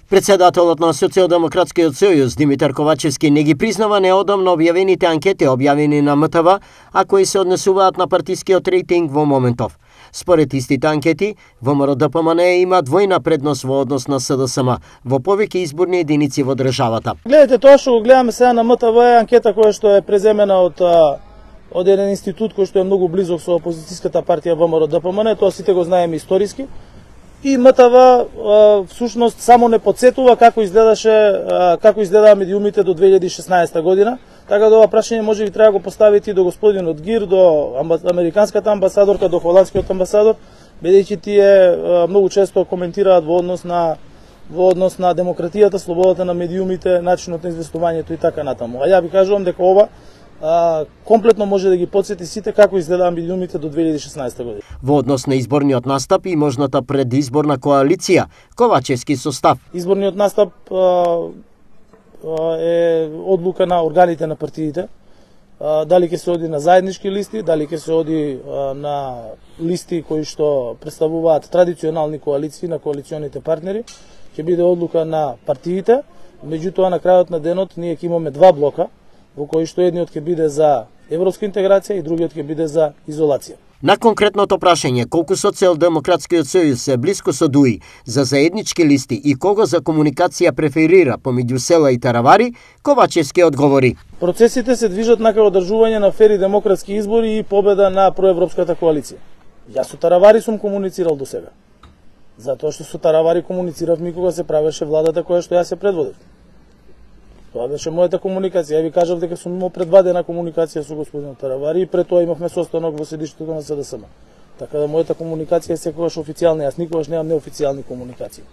Председателот на Социјалдемократскиот сојуз Димитар Ковачевски не ги признава неодамно објавените анкети објавени на МТВ, а кои се однесуваат на партискиот рейтинг во моментов. Според истите анкети, ВМРО-ДПМН има двојна предност во однос на СДСМ во повеќе изборни единици во државата. Гледате, тоа што го гледаме сега на МТВ е анкета која што е преземена од еден институт кој што е многу близок со опозицијската партија ВМРО-ДПМН, тоа сите го знаеме историски. И МТВ всушност само не подсетува како изгледаа медиумите до 2016 година, така да ова прашање може би треба да го поставите и до господинот Гир, до американската амбасадорка, до холандскиот амбасадор, бидејќи тие многу често коментираат во однос на демократијата, слободата на медиумите, начинот на известувањето и така натаму. А ја ви кажувам дека ова комплетно може да ги подсети сите како изгледаа медиумите до 2016 година. Во однос на изборниот настап и можната предизборна коалиција, Ковачевски состав. Изборниот настап е одлука на органите на партиите. Дали ќе се оди на заеднички листи, дали ќе се оди на листи кои што представуваат традиционални коалиции на коалиционите партнери, ќе биде одлука на партиите. Меѓутоа на крајот на денот ние ќе имаме два блока, во кои што едниот ќе биде за европска интеграција и другиот ќе биде за изолација. На конкретното прашање колку Социјалдемократскиот сојуз се блиско со ДУИ за заеднички листи и кого за комуникација преферира помеѓу села и таравари, Ковачевски одговори. Процесите се движат на одржување на фери демократски избори и победа на проевропската коалиција. Јас со таравари сум комуницирал до сега. Затоа што со таравари комунициравме кога се правеше владата која што јас се предводев. Тоа беше мојата комуникација. Ја ви кажав дека сум имал предвадена комуникација со господин Таравари и пред тоа имавме состанок во седиштето на СДСМ. Така да мојата комуникација е секогаш официјална, јас никогаш немам неофицијални комуникации.